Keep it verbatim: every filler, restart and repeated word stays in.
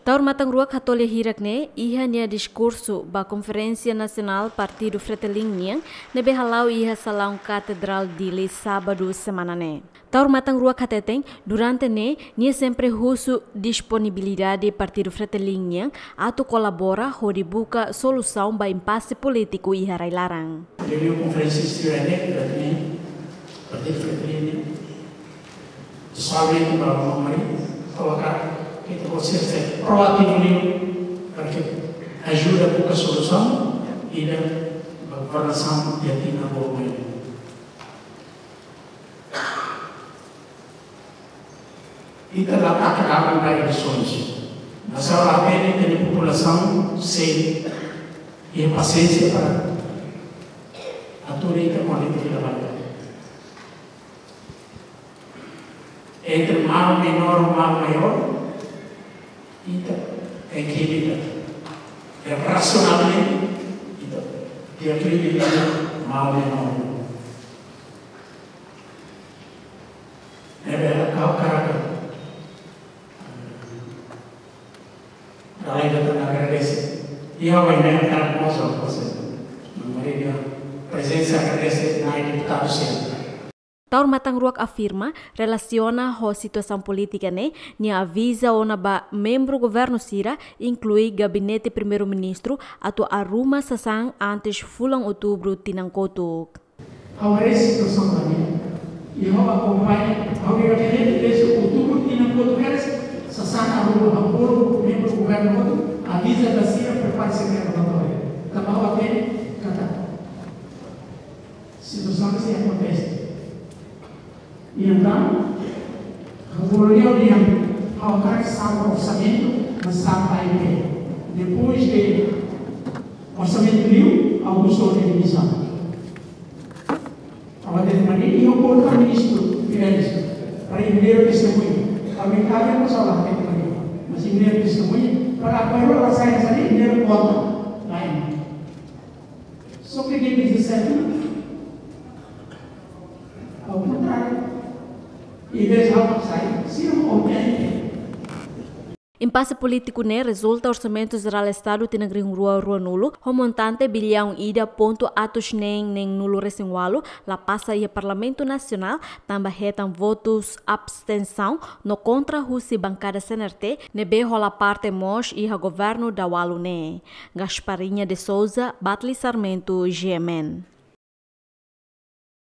Taur Matan Ruak hato'o lia hirak ne'e iha nia diskursu ba Konferénsia Nasionál Partidu Fretilin nian ne'ebé hala'o iha salaun Katedrál Dili, sábadu semana ne'e. Taur Matan Ruak hateten, durante ne'e, nia sempre husu disponibilidade Partidu Fretilin nian atu kolabora hodi buka solusaun ba impase polítiku iha rai-laran. Reuniaun konferénsia sira ne'e, durante ne'e, Partidu Fretilin nian, pesoalmente ba Maun Mari, ha'u hakarak ita-boot sira ser proativu liu, para que ajuda buka solusaun ida ba governasaun iha tinan balu mai. Ita la taka dalan ba eleisoens. Mas ha'u la hatene ita-nia populasaun sei iha pasiénsia para atu ita kontente fila fali. Entre mal menor ou mal maior, ita tem que lidar. É racionalmente, ita, dia que ele mal menor. Ne'ebé ha'u hakarak, eh, dala ida tan agradese. I ha'u hakarak mós, Maria, prezensa, agradese Na'i deputadu sira. Taur Matan Ruak afirma, relasiona ho situasaun polítika ne'e, nia aviza ona ba membru governu sira, inklui Gabinete Primeiru-Ministru, atu arruma sasán antes fulan Outubru tinan kotuk. Ha'u haree situasaun ba ne'e, i ha'u akompaña, ha'u iha gabinete desde Outubru tinan kotuk kedas, sasán arruma, ha'u bolu membru governu hotu, aviza ba sira prepara sira-nia relatóriu. Tanba ha'u hatene katak situasaun ne'e sei akontese. I entaun, ha'u bolu lia, ha'u hakarak salva orsamentu, mas salva A I P. Depois de orsamentu liu, ha'u husu demisaun. Ha'u hatete ba nia, i ha'u bolu ba Ministru Fidelis, para nia testemuña. Para mim, kabe, mas ha'u la hatete ba nia. Mas nia testemuña, para apoiu la sai, sai, nia konta. Lain. Só que dia dezassete, ao contrário, em vez de almoçar, se não contente. Impase polítiku ne'e rezulta Orsamentu Jerál Estadu tinan rihun rua ruanulu, ho montante biliaun ida pontu atus neen neenulu resin ualu, la pasa iha Parlamentu Nasionál, tanba hetan votus abstensaun no kontra husi bankada C N R T, ne'ebé hola parte mós iha governu daualu ne'e. Gasparinha de Souza, Batli Sarmento, G M N.